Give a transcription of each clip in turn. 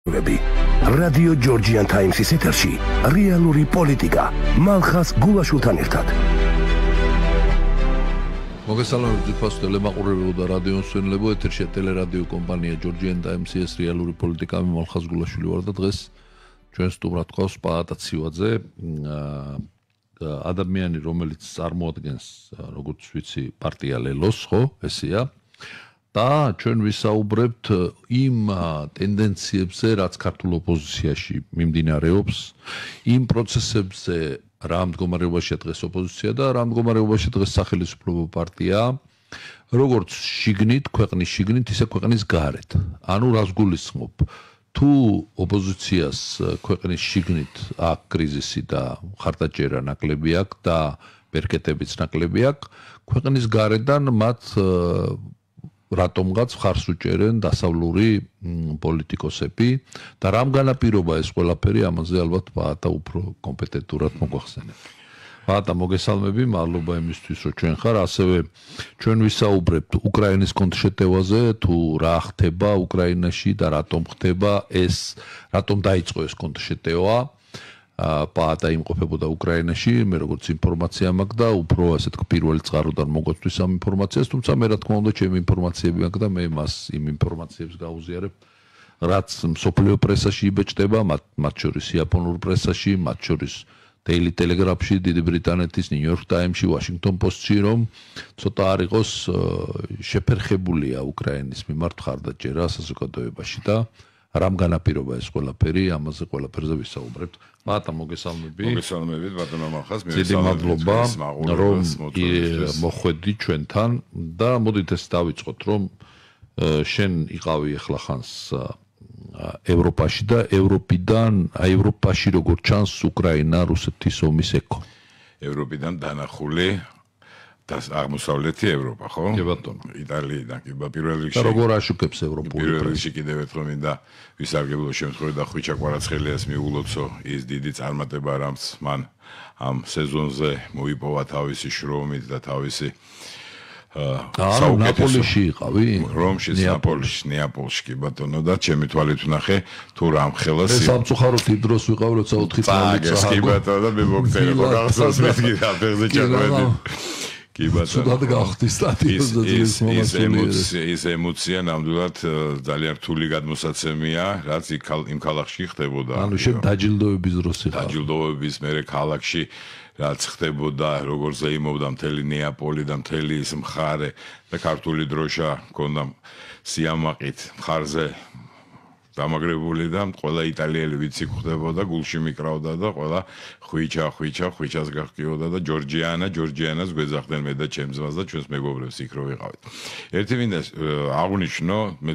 რადიო ჯორჯიან ტაიმსის ეთერში რეალური პოლიტიკა მალხას გულაშვილთან ერთად. მოგესალმებით ფასო ტელემაყურებელო და რადიო მსმენელებო, ეთერში ტელერადიო კომპანია ჯორჯიან ტაიმსი, ეს რეალური პოლიტიკა, მე მალხას გულაშვილი ვარ და დღეს ჩვენ სტუმრად ყავს პაატა ცივაძე, ადამიანი, რომელიც წარმოადგენს, როგორც ვიცი, პარტია ლელოს, ხო, ესეა. და ჩვენ ვისაუბრებთ იმ ტენდენციებზე, რაც ქართულ ოპოზიციაში მიმდინარეობს, იმ პროცესებზე, რა მდგომარეობაშია დღეს ოპოზიცია და რა მდგომარეობაშია დღეს სახელმწიფო პარტია, როგორც შიგნით, ქვეყნის შიგნით, ისე ქვეყნის გარეთ. ანუ რას გულისხმობ? თუ ოპოზიციას ქვეყნის შიგნით აქვს კრიზისი და ხარდაჭერა ნაკლები აქვს და ბერკეტებიც ნაკლები აქვს, ქვეყნის გარედან მათ რატომღაც ხარს უჭერენ დასავლური პოლიტიკოსები და რამ განაპირობა ეს ყველაფერი, ამაზე ალბათ პაატა უფრო კომპეტენტურად მოგვახსენებ. პაატა, მოგესალმები, მადლობა იმისთვის, რომ ჩვენ ხარ, ასევე ჩვენ ვისაუბრებთ უკრაინის კონტრშეტევაზე, თუ რა ხდება უკრაინაში და რატომ ხდება ეს, რატომ დაიწყო ეს კონტრშეტევა. პაატა იმყოფებოდა უკრაინაში, მე როგორც ინფორმაცია მაქვს და უფრო ასეთ პირველი წყაროდან მოგვწვის ამ ინფორმაციას, თუმცა მე რა თქმა უნდა ჩემი ინფორმაციები მაქვს და მე მას იმ ინფორმაციებს გავუზიარებ, რაც მსოფლიო პრესაში იბეჭდება, მათ შორის იაპონურ პრესაში, მათ შორის Daily Telegraph-ში, დიდი ბრიტანეთის New York Times-ში, Washington Post-ში, რომ ცოტა არ იყოს შეფერხებულია უკრაინის მიმართ ხარდაჭერა საზოგადოებაში და რამ განაპირობა ეს ყველაფერი, ამაზე ყველაფერზე ვისაუბრებთ. პაატა, მოგესალმები. მოგესალმებით, ბატონო მახას, დიდი მადლობა, რომ მოხვედი ჩვენთან და მოდით ეს დავიწყოთ, რომ შენ იყავი ახლა ხანს ევროპაში და ევროპაში როგორ ჩანს უკრაინა რუსეთის ომის ეკო. ევროპიდან დანახული და აღმოსავლეთი ევროპა, ხო? კი ბატონო. იტალიიდან კი პირველ რიგში. და როგორ აშუქებს ევროპული პირველ რიგში კიდევ ერთხელ მინდა ვისარგებლო შემთხვევით და ხვიჩა კვარაცხელიას მიულოცო ის დიდი წარმატება, რამც მან ამ სეზონზე მოიპოვა თავისი შრომით და თავისი ნაპოლიში იყავი? რომში, ნეაპოლში კი ბატონო და ჩემი თვალით ვნახე თუ რამ ხელას სამწუხაროდ იმ დროს ვიყავ, როცა 4 წელი წააგეს კი ბატონო და მე მოგწერე ხო გახსოვს მეთქი რა ფეხზე ჩაგვედი კი ბატონო ცუდად გავხდი სტატიოს ის ემოცია ნამდვილად ძალიან რთული გადმოსაცემია, რაც იმ ქალაქში ხდებოდა. ანუ შენ დაჯილდოების დროს იყავ. დაჯილდოების მერე ქალაქში რაც ხდებოდა, როგორ ზეიმობდა მთელი ნეაპოლი და მთელი ის მხარე და ქართული დროშა მქონდა სიამაყით მხარზე დამაგრებული და ყველა იტალიელი ვიცი ხდებოდა, გულში მიკრავდა და ყველა ხვიჩას გახკიოდა და ჯორჯიანას გვეძახდნენ მე და ჩემს ძმას და ჩვენს მეგობრებს იქ რო ვიყავით. ერთი მინდა აღნიშნო, მე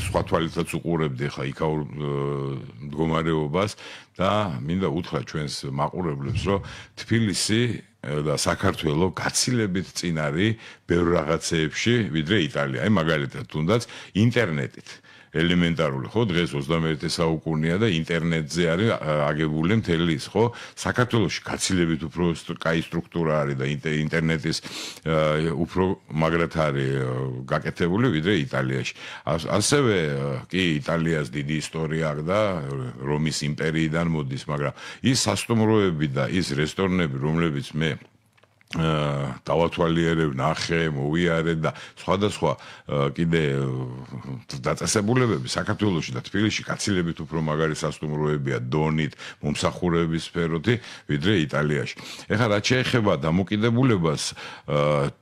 სხვა თვალითაც უყურებდი ხა იქაურ მდგომარეობას და მინდა უთხრა ჩვენს მაყურებლებს, რომ თბილისი და საქართველო გაცილებით წინ არის ბევრ რაღაცეებში, ვიდრე იტალია. აი მაგალითად, თუნდაც ინტერნეტით. ელემენტარული, ხო, დღეს 21 საუკუნეა და ინტერნეტზე არის აგებული მთელი ის, ხო? საქართველოში გაცილებით უფრო კაი სტრუქტურა არის და ინტერნეტის უფრო მაგრად არის გაკეთებული ვიდრე იტალიაში. ასევე კი იტალიას დიდი ისტორია აქვს და რომის იმპერიიდან მოდის, მაგრამ ის სასტუმროები და ის რესტორნები, რომლებიც მე დავათვალიერებ, ნახე, მოვიარე და სხვადასხვა კიდე დაწესებულებები საქართველოში და თბილისში გაცილებით უფრო მაგარი სასტუმროებია დონით, მომსახურების სფეროთი, ვიდრე იტალიაში. ეხლა რაც შეეხება დამოკიდებულებას,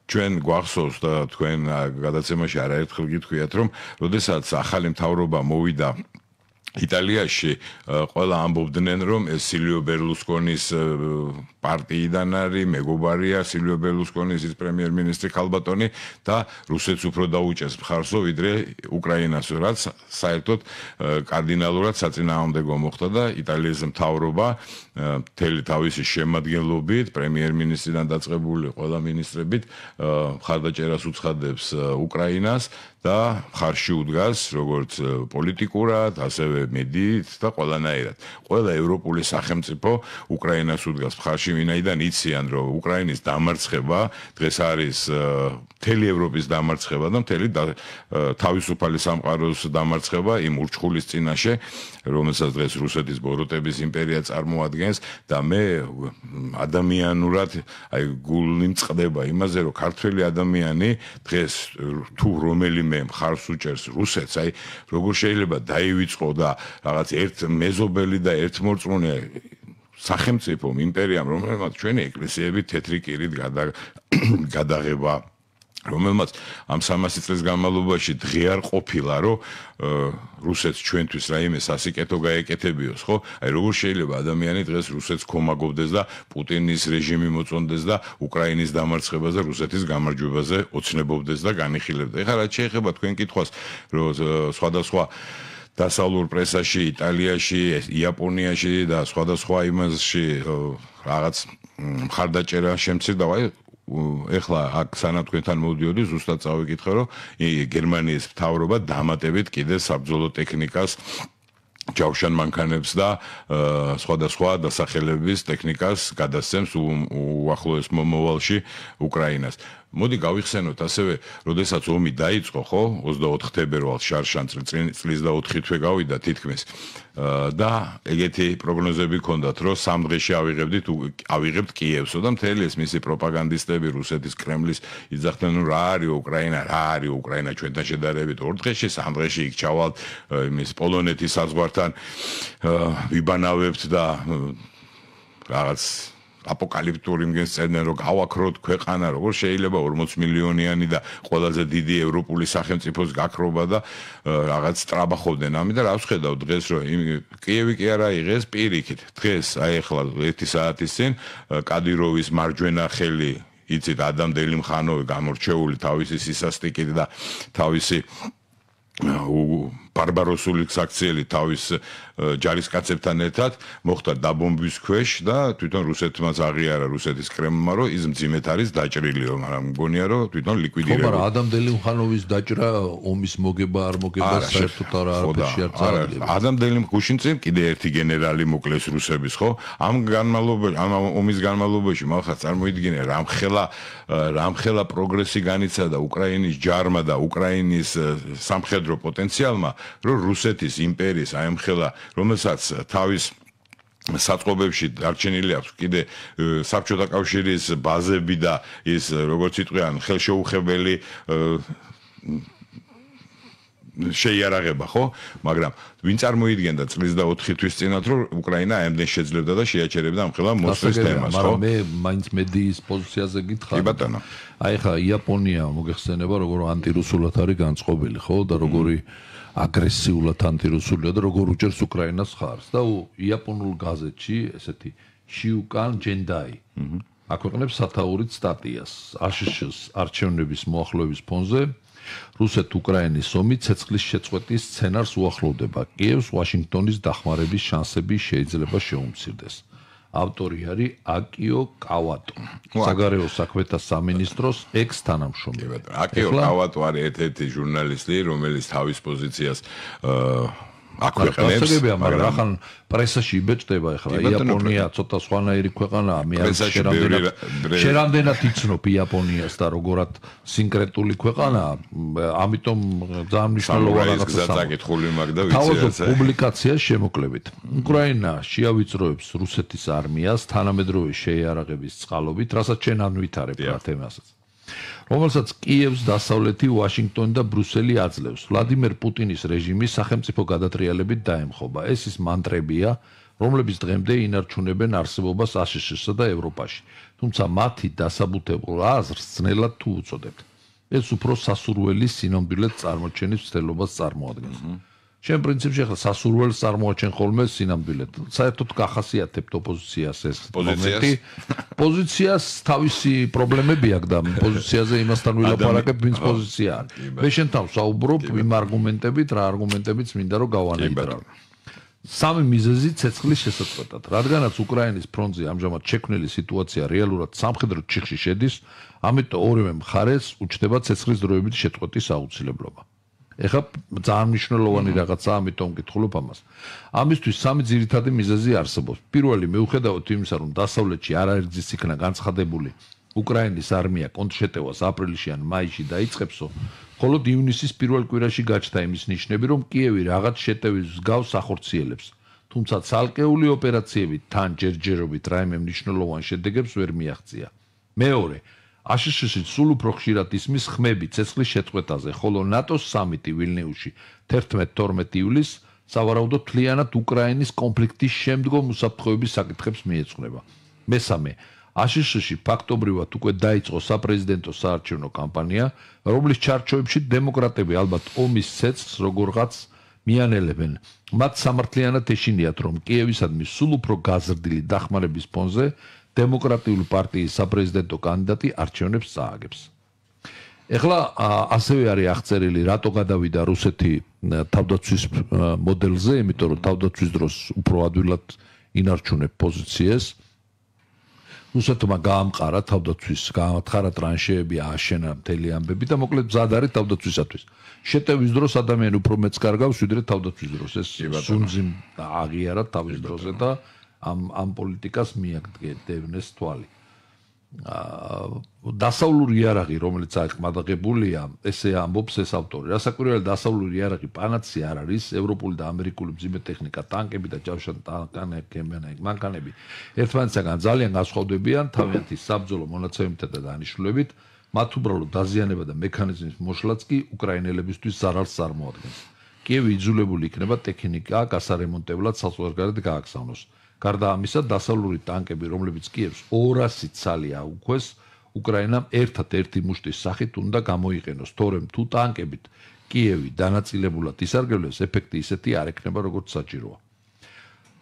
ჩვენ გვახსოვს და თქვენ გადაცემაში არაერთხელ გითხვიათ, რომ როდესაც ახალი მთავრობა მოვიდა იტალიაში, ყველა ამბობდნენ, რომ ეს სილიო ბერლუსკონის პარტიიდან არის, მეგობარია სილიო ბერლუსკონის ის პრემიერ-მინისტრი ქალბატონი და რუსეთს უფრო დაუჭეს მხარსო, ვიდრე უკრაინას, რაც საერთოდ კარდინალურად საწინააღმდეგო მოხდა და იტალიის მთავრობა მთელი თავისი შემადგენლობით, პრემიერ-მინისტრიდან დაწყებული ყველა მინისტრებით მხარდაჭერას უცხადებს უკრაინას და ხარში უდგას როგორც პოლიტიკურად, ასევე მედიით და ყველანაირად. ყველა ევროპული სახელმწიფო უკრაინას უდგას ხარში, ვინაიდან იციან, რომ უკრაინის დამარცხება დღეს არის მთელი ევროპის დამარცხება და მთელი თავისუფალი სამყაროს დამარცხება იმ ურჩხულის წინაშე, რომელსაც დღეს რუსეთის ბოროტების იმპერია წარმოადგენს და მე ადამიანურად გული მწყდება იმაზე, რომ ქართველი ადამიანი დღეს თუ რომელიმე მხარს უჭერს რუსეთს, როგორ შეიძლება დაივიწყო და რაღაც ერთ მეზობელი და ერთმორწმუნე სახელმწიფომ, იმპერიამ, რომელმაც ჩვენი ეკლესიები თეთრი კირით გადაღება, რომელმაც ამ 300 წლის განმავლობაში დღე არ ყოფილა, რომ რუსეთს ჩვენთვის რაიმე სასიკეთო გაეკეთებიოს, ხო? როგორ შეიძლება ადამიანი დღეს რუსეთს ქომაგობდეს და პუტინის რეჟიმი მოწონდეს და უკრაინის დამარცხებას და რუსეთის გამარჯვებაზე ოცნებობდეს და განიხილებდეს. ეხლა რაც შეეხება თქვენ კითხვას, რომ სხვადასხვა დასავლურ პრესაში, იტალიაში, იაპონიაში და სხვადასხვა იმაში რაღაც მხარდაჭერა შემცირდა, ეხლა აქ სანამ თქვენთან მოვდიოდი, ზუსტად წავიკითხე, რომ გერმანიის მთავრობა დამატებით კიდე საბრძოლო ტექნიკას ჯავშან მანქანებს და სხვადასხვა დასახელების ტექნიკას გადასცემს უახლოეს მომავალში უკრაინას. მოდი გავიხსენოთ ასევე, როდესაც ომი დაიწყო, ხო, 24 თებერვალს შარშან წლის და 4 თვე გავიდა თითქმის და ეგეთი პროგნოზები ჰქონდათ, რომ 3 დღეში ავიღებთ კიევსო და მთელი ეს მისი პროპაგანდისტები რუსეთის კრემლის იძახდნენ, რომ რა არის უკრაინა ჩვენთან შედარებით 2 დღეში, 3 დღეში იქ ჩავალთ იმის პოლონეთის საზღვართან ვიბანავებთ და რაღაც აპოკალიფტური იმგენს წერდნენ, რომ გავაქროთ ქვეყანა, როგორ შეიძლება 40 მილიონიანი და ყველაზე დიდი ევროპული სახელმწიფოს გაქრობა და რაღაც ტრაბახობდნენ. ამიტომ რა ვხედავ დღეს, რომ კიევი კი არა იღეს პირიქით. დღეს ახლა 1 საათის წინ კადიროვის მარჯვენა ხელი, იცით, ადამ დელიმხანოვი გამორჩეული თავისი სისასტიკით და თავისი ბარბაროსული საქციელი თავის ჯარისკაცებთან ერთად მოხდა დაბომბვის ქვეშ და თვითონ რუსეთმაც აღიარა რუსეთის კრემლმა, რომ ის მძიმედ არის დაჭრილი, მაგრამ მგონია, რომ თვითონ ლიკვიდირებული. მაგრამ ადამ დელიმხანოვის დაჭრა ომის მოგება არ მოგება საერთოდ არაფერში არ წარადგენს. ადამ დელიმხანოვი წინ კიდე ერთი გენერალი მოკლეს რუსების, ხო? ამ ომის განმავლობაში მალხაც წარმოიდგინე რამხელა პროგრესი განიცადა უკრაინის ჯარმა და უკრაინის სამხედრო პოტენციალმა, რომ რუსეთის იმპერიის აემხელა, რომელსაც თავის საწყობებში დარჩენილი აქვს კიდე საბჭოთა კავშირის ბაზები და ის როგორც იტყვიან ხელშეუხებელი შეიარაღება, ხო? მაგრამ ვინ წარმოიდგენდა წლის და 4 თვის წინათ, რომ უკრაინა ამდენ შეძლებდა და შეაჩერებდა ამხელა მოსვლის თემას, ხო? მაგრამ მე მაინც მედიის პოზიციაზე გითხარ. კი ბატონო. აი ხა იაპონია მოგეხსენება, როგორ ანტირუსულად არის განწყობილი, ხო? და როგორი აგრესიულად ანტირუსულია და როგორ უჭერს უკრაინას ხარს და იაპონურ გაზეთში ესეთი შიუკან ჯენდაი აქვეყნებს სათაურით სტატიას აშშ-ს არჩევნების მოახლოების ფონზე რუსეთ-უკრაინის ომი ცეცხლის შეწყვეტის სცენარს უახლოვდება. კიევს ვაშინგტონის დახმარების შანსები შეიძლება შეუმცირდეს. ავტორი არის აკიო კავატო, საგარეო საქმეთა სამინისტროს ექს-თანამშრომელი. აკიო კავატო არის ერთ-ერთი ჟურნალისტი, რომელიც თავის პოზიციას აქვეყნებს, მაგრამ ახლა პრესაში იბეჭდება, ახლა იაპონია ცოტა სხვანაირი ქვეყანაა, მე შერამდენად იცნობ იაპონიას და როგორად სინკრეტული ქვეყანაა, ამიტომ ძალიან მნიშვნელოვანია რაღაცა საკითხული მაგ და ვიცი პუბლიკაციას შემოკლებით. უკრაინა შეავიწროებს რუსეთის არმიას თანამედროვე შეიარაღების წყალობით, რასაც ჩვენ ანვითარებ რა თემასაც. რომელსაც კიევს დასავლეთი ვაშინგტონი და ბრუსელი აძლევს. ვლადიმერ პუტინის რეჟიმი სახელმწიფო გადატრიალებით დაემხობა. ეს ის მანტრებია, რომლებიც დღემდე ინარჩუნებენ არსებობას აშშ-სა და ევროპაში. თუმცა მათი დასაბუთებულ აზრს ძნელად თუ უწოდებთ. ეს უფრო სასურველი სინამდვილედ წარმოჩენის ცდელობას წარმოადგენს. შენ პრინციპში ახლა სასურველს წარმოაჩენ ხოლმე სინამდვილედ. საერთოდ გახასიათებთ ოპოზიციას ეს მომენტი. პოზიციას თავისი პრობლემები აქვს და პოზიციაზე იმასთან ვილაპარაკებ, ვინც პოზიცია არის. მე შენთან ვსაუბრობ იმ არგუმენტებით, რა არგუმენტებიც მინდა რომ გავანეიტრა. სამი მიზეზი ცეცხლის შესაწყვეტად. რადგანაც უკრაინის ფრონტზე ამჟამად შექმნილი სიტუაცია რეალურად სამხედრო ჩიხში შედის, ამიტომ ორივე მხარეს უჩნდება ცეცხლის დროებითი შეწყვეტის აუცილებლობა. ეხლა ძალიან მნიშვნელოვანი რაღაცაა, ამიტომ ვკითხულობ ამას. ამისთვის სამი ძირითადი მიზეზი არსებობს. პირველი, მიუხედავად იმისა, რომ დასავლეთში არაერთგზის იქნა განცხადებული უკრაინის არმია კონტრშეტევას აპრილში ან მაისში დაიწყებსო, მხოლოდ ივნისის პირველ კვირაში გაჩნდა იმის ნიშნები, რომ კიევი რაღაც შეტევის მსგავს ახორციელებს. თუმცა ცალკეული ოპერაციები თან ჯერჯერობით რაიმე მნიშვნელოვან შედეგებს ვერ მიაღწია. მეორე, აშშ-ში სულ უფრო ხშირად ისმის ხმები ცეცხლის შეწყვეტაზე, ხოლო ნატოს სამიტი ვილნიუსში 11-12 ივლისს სავარაუდოდ მთლიანად უკრაინის კონფლიქტის შემდგომ უსაფრთხოების საკითხებს მიეძღვნება. მესამე, აშშ-ში ფაქტობრივად უკვე დაიწყო საპრეზიდენტო საარჩევნო კამპანია, რომლის ჩარჩოებში დემოკრატები ალბათ ომის ცეცხლს როგორღაც მიანელებენ. მათ სამართლიანად ეშინიათ, რომ კიევისადმი სულ უფრო გაზრდილი დახმარების ფონზე დემოკრატიული პარტიის საპრეზიდენტო კანდიდატი არჩევნებს წააგებს. ეხლა ასევე არის აღწერილი, რატო გადავიდა რუსეთი თავდაცვის მოდელზე, იმიტომ რომ თავდაცვის დროს უფრო ადვილად ინარჩუნებ პოზიციას. რუსეთმა გაამყარა თავდაცვის, გაამყარა ტრანშეები, ააშენა მთელი ამბები და მოკლედ მზად არის თავდაცვისათვის. შეტევის დროს ადამიანი უფრო მეც კარგავს, ვიდრე თავდაცვის დროს. ეს სუნძი აღიარა თავის დროზე და ამ პოლიტიკას მიაგდევნეს თვალი. დასავლური იარაღი, რომელიც აყმადაღებულია, ესე ამბობს ეს ავტორი. რასაკვირველია, დასავლური იარაღი პანაცე არ არის, ევროპული და ამერიკული მძიმე ტექნიკა, ტანკები და მანქანები ერთმანეთისგან ძალიან განსხვავდებიან თავიანთი საბრძოლო მონაცემებითა და დანიშნულებით, მათ უბრალოდ დაზიანება და მექანიზმის მოშლაც კი უკრაინელებისთვის ზარალს წარმოადგენს. კიევი იძულებული იქნება ტექნიკა გასარემონტებლად საზღვარგარეთ გააგზავნოს. გარდა ამისა, დასავლური ტანკები, რომლებიც კიევს 200 ცალი აუქვეს, უკრაინამ ერთად-ერთი მუშტის სახით უნდა გამოიყენოს, თორემ თუ ტანკებით კიევი დანაწილებულად ისარგებლებს, ეფექტი ისეთი არ ექნება, როგორც საჭიროა.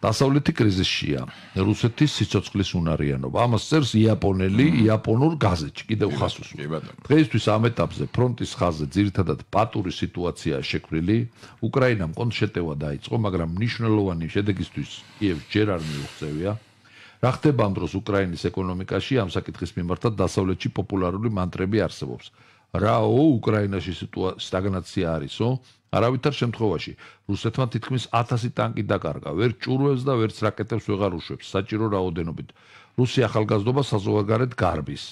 დასავლეთი კრიზისშია, რუსეთის სიცოცხლის უნარიანობა. ამას წერს იაპონურ გაზეთში, კიდევ ხას უსვამს. დღეისთვის ამ ეტაპზე ფრონტის ხაზზე ძირითადად პატური სიტუაციაა შექმნილი. უკრაინამ კონტრშეტევა დაიწყო, მაგრამ მნიშვნელოვანი შედეგისთვის კიევს ჯერ არ მიუღწევია. რა ხდება ამ დროს უკრაინის ეკონომიკაში, ამ საკითხის მიმართად დასავლეთში პოპულარული მანტრები არსებობს. რაო, უკრაინაში სტაგნაცია არისო? არავითარ შემთხვევაში რუსეთმა თითქმის 1000 ტანკი დაკარგა, ვერ ჭურვებს და ვერც რაკეტებს ვეღარ უშვებს, საჭირო რაოდენობით. რუსი ახალგაზრდობა საზღვარგარეთ გარბის.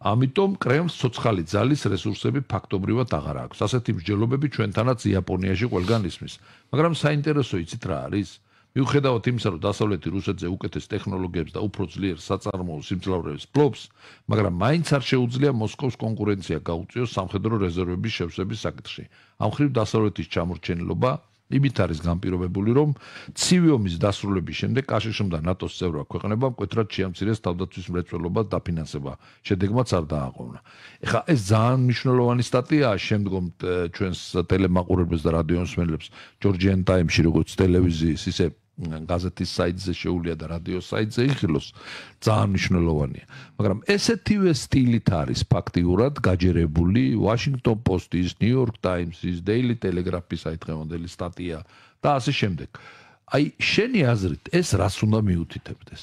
ამიტომ კრემლს ცოცხალი ძალის რესურსები ფაქტობრივად აღარ აქვს. ასეთი მსჯელობები ჩვენთანაც იაპონიაში ყველგან ისმის. მაგრამ საინტერესო იცით რა არის? მიუხედავად იმისა, რომ დასავლეთი რუსეთზე უკეთეს ტექნოლოგიებს და უფრო ძლიერ საწარმოო სიმძლავრეს ფლობს, მაგრამ მაინც არ შეუძლია მოსკოვს კონკურენცია გაუწიოს სამხედრო რეზერვების შევსების საკითხში. ამ მხრივ დასავლეთის ჩამორჩენილობა იმით არის განპირობებული, რომ ცივი ომის დასრულების შემდეგ კაშშ-მ და ნატოს წევრ ქვეყნებამ მკვეთრად შეამცირეს თავდაცვის მრეწველობა და დაფინანსება. შედეგმაც არ დააყოვნა. ეხლა ეს ძალიან მნიშვნელოვანი სტატიაა შემდგომ ჩვენს ტელემაყურებელს და რადიომსმენელებს Georgian Times-ში, როგორც ტელევიზიის, ისე გაზეთის საიტზე შეუძლია და რადიოს საიტზე იხილოს, ძალიან მნიშვნელოვანია. მაგრამ ესეთივე სტილით არის ფაქტიურად გაჯერებული Washington Post-ის, New York Times-ის, Daily Telegraph-ის დღევანდელი სტატია და ასე შემდეგ. აი, შენი აზრით, ეს რას უნდა მიუთითებდეს?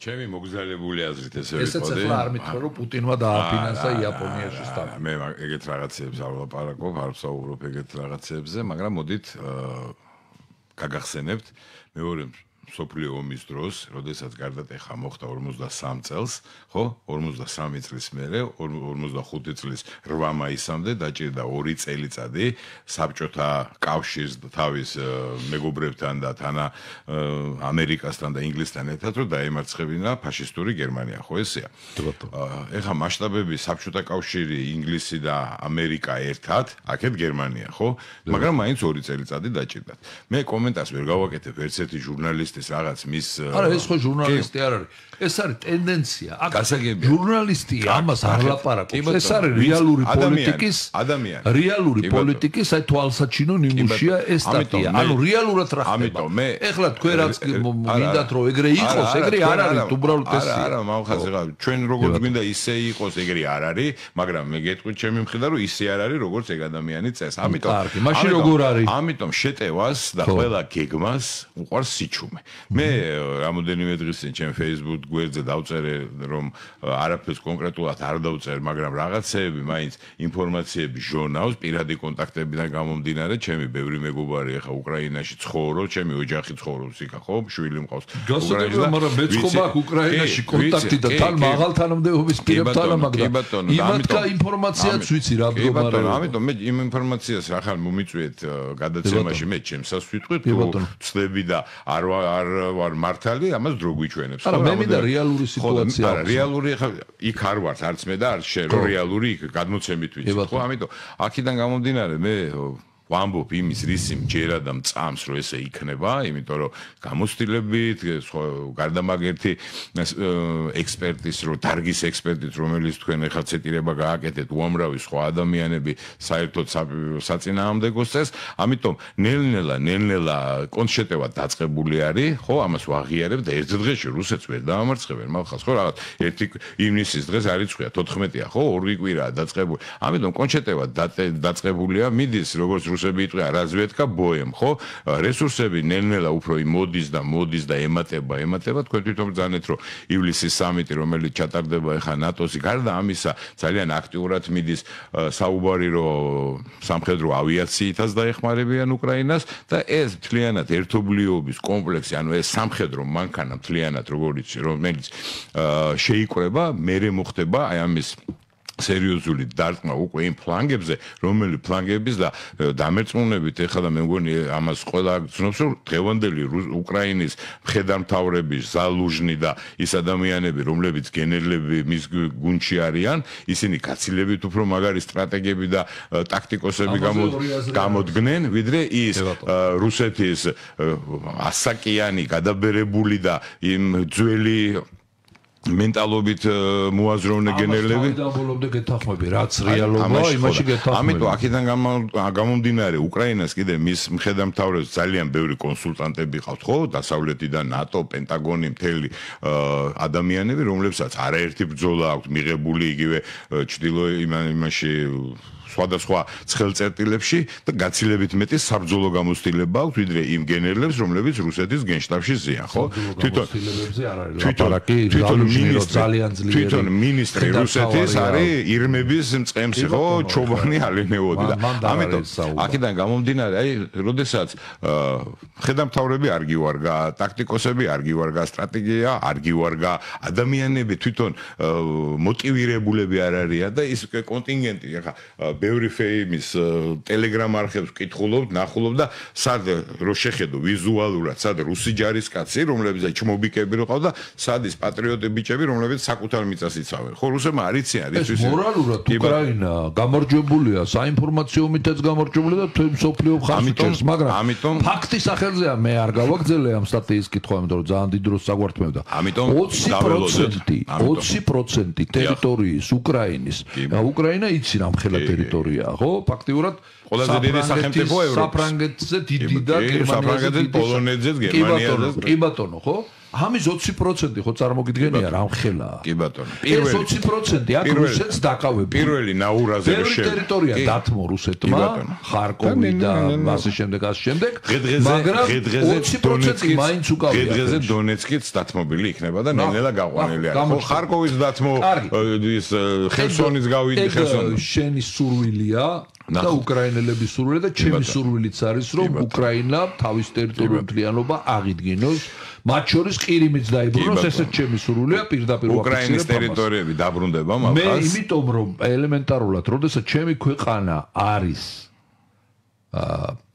ჩემი მოგზაურებული აზრით ესე ვიყო. ესეც ახლა არ მითხრა, რომ პუტინმა დააფინანსა იაპონიაში სტატია. მე ეგეთ რაღაცებს არ ვლაპარაკობ, არ ვსაუბრობ ეგეთ რაღაცებზე, მაგრამ მოდით გაგახსენებთ მეორე მსოფლიო ომის დროს, როდესაც გარდატეხა მოხდა 53 წელს, ხო? 53 წლის მერე, 45 წლის 8 მაისამდე დაჭირდა 2 წელიწადი საბჭოთა კავშირს თავის მეგობრებთან და თანა ამერიკასთან და ინგლისთან ერთად რომ დაემარცხებინა ფაშისტური გერმანია, ხო ესეა? ეხა მასშტაბები საბჭოთა კავშირი, ინგლისი და ამერიკა ერთად, აქეთ გერმანია, ხო? მაგრამ მაინც 2 წელიწადი დაჭირდათ. მე კომენტარს ვერ გავაკეთებ ერთ-ერთი ჟურნალისტის რაღაც მის არა ეს ხო ჟურნალისტი არ არის. ეს არის ტენდენცია. აქ ჟურნალისტი ამას არ ლაპარაკობს. ეს არის რეალური პოლიტიკის რეალური პოლიტიკის აი თვალსაჩინო ნიმუშია ეს სტატია. ანუ რეალურად რა ხდება? ეხლა თქვენ რაც მინდათ რომ ეგრე იყოს, ეგრე არ არის, უბრალოდ ეს არა, მამხაზე რა, ჩვენ როგორც გვინდა ისე იყოს, ეგრე არ არის, მაგრამ მე გეტყვით ჩემი მხრიდან რომ ისე არ არის, როგორც ეგ ადამიანი წეს. ამიტომ კარგი, მაშინ როგორ არის? ამიტომ შეტევას და ყველა გეგმას უყვარს სიჩუმე. მე რამოდენიმე დღის წინ ჩემ Facebook გვერდზე დავწერე რომ არაფერს კონკრეტულად არ დავწერ, მაგრამ რაღაცეები მაინც ინფორმაციები ჟურნალს პირადი კონტაქტებიდან გამომდინარე, ჩემი ბევრი მეგობარი ახლა უკრაინაში ცხოვრობს, ჩემი ოჯახი ცხოვრობს იქ, ხო, შვილი მყავს უკრაინაში, მაგრამ მეც ხომ აქვს უკრაინაში კონტაქტი და თან მაღალ თანამდებობის პირებთან, მაგრამ იმათკა ინფორმაციაც ვიცი რა მდგომარეობა. ამიტომ მე იმ ინფორმაციას ახლა მომიწვიეთ გადაცემაში მე ჩემსას ვიტყვით, თუ ცდები და არ ვარ მართალი, ამას დრო გვიჩვენებს. არა, მე მინდა რეალური სიტუაცია. არა, რეალური ახლა იქ არ ვარ, არც მე და არც შენ, რეალური იქ გადმოცემით ვიცი, ხო, ამიტომ აქედან გამომდინარე მე ვამბობ იმის რისი მჯერა და მწამს რომ ესე იქნება, იმიტომ რომ გამოცდილებით გარდამაგერთი ექსპერტის რო დარგის ექსპერტით რომელიც თქვენ ახლა ცეტირება გააკეთეთ უამრავი სხვა ადამიანები საერთოდ საწინააღმდეგოს წეს, ამიტომ ნელ-ნელა კონშეტევა დაწყებული არის, ხო, ამას ვაღიარებ და ერთ დღეში რუსეთს ვერ დაამარცხებენ, მაგას ხო რაღაც 1 ივნისის დღეს არიცხვია 14-ია, ხო, 2 კვირაა დაწყებული. ამიტომ კონშეტევა დაწყებულია, მიდის როგორც რუსები იტყვიან რაზვედკა ბოემ, ხო? რესურსები ნელ-ნელა უფრო მოდის და ემატება, თქვენ თვითონ ბრძანეთ, რომ ივლისის სამიტი, რომელიც ჩატარდება ახლა ნატოსი, გარდა ამისა, ძალიან აქტიურად მიდის საუბარი, რომ სამხედრო ავიაციითაც დაეხმარებიან უკრაინას და ეს მთლიანად ერთობლიობის კომპლექსი, ანუ ეს სამხედრო მანქანა მთლიანად, რომელიც შეიკრება, მერე მოხდება აი ამის სერიოზული დარტყმა უკვე იმ ფლანგებზე, რომელი ფლანგების და დამერწმუნებით ეხლა და მე მგონი ამას ყველა გძნობს, რომ დღევანდელი უკრაინის მხედართმთავრების ზალუჟნი და ის ადამიანები, რომლებიც გენერლები მის გუნდში არიან, ისინი გაცილებით უფრო მაგარი სტრატეგები და ტაქტიკოსები გამოდგნენ, ვიდრე ის რუსეთის ასაკიანი გადაბერებული და იმ ძველი მენტალობით მოაზროვნე გენერლები ამბობდნენ გეთანხმები რაც რეალობა იმაში გეთანხმები. ამიტომ აქედან გამომდინარე უკრაინას კიდე მის მხედართმთავრებს ძალიან ბევრი კონსულტანტები ყავთ, ხო, დასავლეთიდან ნატო, პენტაგონი, მთელი ადამიანები, რომლებსაც არაერთი ბრძოლა აქვს მიღებული იგივე ჩრდილო იმაში სხვადასხვა ცხელწერტილებში და გაცილებით მეტი საბრძოლო გამოცდილება აქვს ვიდრე იმ გენერლებს, რომლებიც რუსეთის გენშტაბში ზიან, ხო? თვითონ მინისტრი რუსეთის არის ირმების მწყემსი, ხო, ჩობანი ალენეოდი და ამიტომ აქედან გამომდინარე, აი, როდესაც მხედართმთავრები არ გივარგა, ტაქტიკოსები არ გივარგა, სტრატეგია არ გივარგა, ადამიანები თვითონ მოტივირებულები არ არიან და ის კონტინგენტი ახლა ბევრი ფეიმის ტელეგრამ არხებს ვკითხულობ, ნახულობ და სად რო შეხედო ვიზუალურად, სად რუსი ჯარისკაცი, რომლებიც ჩმობიკები რო ყავდა, სად ის პატრიოტი ბიჭები, რომლებიც საკუთარ მიწას იცავენ. ხო, რუსებმა არ იციან, ეს მორალურად უკრაინა გამარჯვებულია, საინფორმაციო მითაც გამარჯვებულია და თვე მსოფლიო ხარს უჭერს, მაგრამ ფაქტის სახელზეა მე არ გავაგზელე ამ სტატიის კითხვა, იმიტომ რომ ძალიან დიდ დროს საგვართმევდა. 20% ტერიტორიის უკრაინის, უკრაინა იცი რამ ხელა ტერიტორია, ხო? ფაქტიურად ყველაზე დიდი სახელმწიფო ევროპის. საფრანგეთზე დიდი და გერმანიაზე, პოლონეთზე, გერმანიაზე. კი ბატონო, ხო? ამის 20% ხო წარმოგიდგენია რა ხელაა. კი ბატონო. ეს 20% აქ რუსეთს დაკავებს. პირველი ნაურაზე რო შევიდა. ტერიტორია დათმო რუსეთმა, ხარკოვი და ასე შემდეგ. მაგრამ 20% მაინც უკავია. დღეზე დონეცკიც დათმობილი იქნება და ნელ-ნელა გაყვანილი არის. ხო, ხარკოვის დათმო ის ხერსონის გავიდი ხერსონი. შენი სურვილია და უკრაინელების სურვილი და ჩემი სურვილიც არის რომ უკრაინა თავის ტერიტორიულ მთლიანობა აღიდგინოს, მათ შორის ყირიმიც დაიბრუნოს, ესეც ჩემი სურვილია პირდაპირ უკრაინის ტერიტორიები დაბრუნდება მაგას. მე იმიტომ რომ ელემენტარულად, როდესაც ჩემი ქვეყანა არის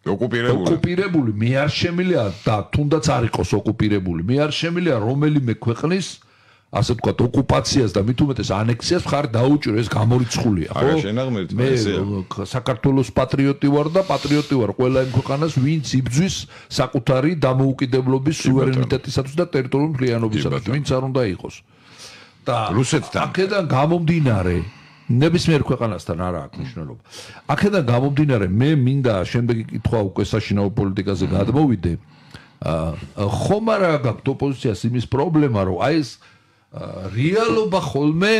ოკუპირებული, მე არ შემიძლია და თუნდაც არ იყოს ოკუპირებული, მე არ შემიძლია რომელიმე ქვეყნის ასე ვთქვათ, ოკუპაციას და მით უმეტეს ანექსიას მხარი დაუჭირო, ეს გამორიცხულია, ხო? მე საქართველოს პატრიოტი ვარ და პატრიოტი ვარ ყველა იმ ქვეყანას, ვინც იბრძვის საკუთარი დამოუკიდებლობის, სუვერენიტეტისათვის და ტერიტორიული მთლიანობისათვის, ვინც არ უნდა იყოს. და რუსეთთან აქედან გამომდინარე, ნებისმიერ ქვეყანასთან არა აქვს მნიშვნელობა. აქედან გამომდინარე, მე მინდა შემდეგი კითხვა უკვე საშინაო პოლიტიკაზე გადმოვიდე. ხომ არა გაქვთ ოპოზიციას იმის პრობლემა, რომ აი ეს რეალობა ხოლმე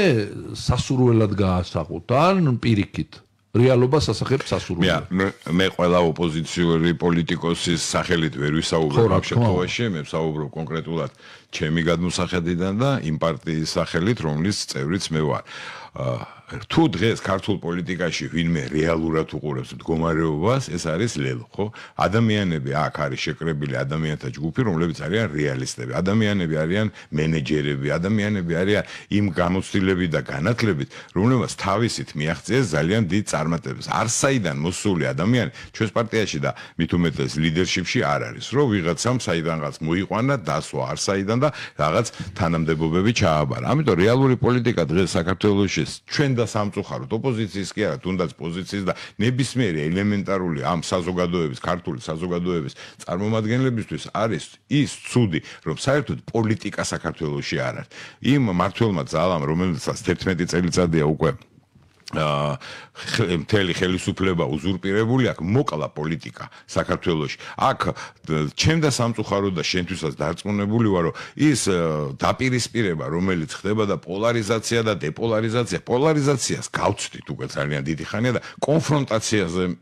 სასურველად გაასაღოთ ან პირიქით რეალობას ასახებს სასურველად. მე ყველა ოპოზიციური პოლიტიკოსის სახელით ვერ ვისაუბრებ ამ შემთხვევაში, მე ვსაუბრობ კონკრეტულად ჩემი გადმოსახედიდან და იმ პარტიის სახელით, რომლის წევრიც მე ვარ. თუ დღეს ქართულ პოლიტიკაში ვინმე რეალურად უყურებს მდგომარეობას, ეს არის ლელო, ხო? ადამიანები აქ არის შეკრებილი ადამიანთა ჯგუფი, რომლებიც არიან რეალისტები. ადამიანები არიან მენეჯერები, ადამიანები არიან იმ გამოცდილებით და განათლებით, რომლებსაც თავისით მიაღწიეს ძალიან დიდ წარმატებებს. არსაიდან მოსული ადამიანი ჩვენს პარტიაში და მით უმეტეს ლიდერშიპში არ არის, რომ ვიღაცამ საიდანღაც მოიყვანა, დასვა არსაიდან და რაღაც თანამდებობები ჩააბარა. ამიტომ რეალური პოლიტიკა დღეს საქართველოში ჩვენ და სამწუხაროდ ოპოზიციის კი არა, თუნდაც პოზიციის და ნებისმიერი ელემენტარული ამ საზოგადოების, ქართული საზოგადოების წარმომადგენლებისთვის არის ის ცუდი, რომ საერთოდ პოლიტიკა საქართველოში არ არის. იმ მმართველმა ძალამ, რომელსაც 11 წელიწადია უკვე მთელი ხელისუფლება უზურპირებული აქვს, მოკლა პოლიტიკა საქართველოში. აქ ჩემ და სამწუხაროდ და შენთვისაც დარწმუნებული ვარ, რომ ის დაპირისპირება, რომელიც ხდება და პოლარიზაცია და დეპოლარიზაცია, პოლარიზაციას გავცდით უკვე ძალიან დიდი ხანია და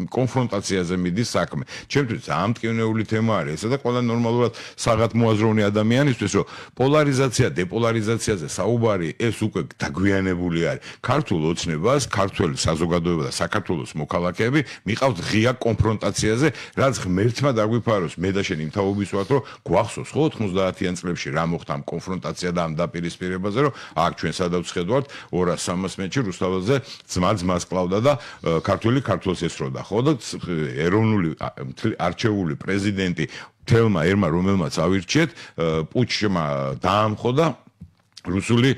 კონფრონტაციაზე მიდის საქმე. ჩემთვის ძალიან მტკივნეული თემა არის ესა და ყველა ნორმალურად საღად მოაზროვნე ადამიანისთვის, რომ პოლარიზაცია, დეპოლარიზაციაზე საუბარი ეს უკვე დაგვიანებული არის. ქართულ ოცნებას, ქართველი საზოგადოება და საქართველოს მოქალაქეები მიყავთ ღია კონფრონტაციაზე, რაც ღმერთმა დაგვიფაროს, მე და შენ იმ თაობის ვართ, რომ გვახსოვს ხო 90-იან წლებში რა მოხდა ამ კონფრონტაცია და ამ დაპირისპირებაზე, რომ აქ ჩვენ სადაც ხედავთ 200-300 მეტრში რუსთაველზე ძმას კლავდა და ქართველი ქართველს ესროდა, ხო და ეროვნული არჩეული პრეზიდენტი თელმა ერმა რომელმაც ავირჩიეთ, პუჩმა დაამხო და რუსული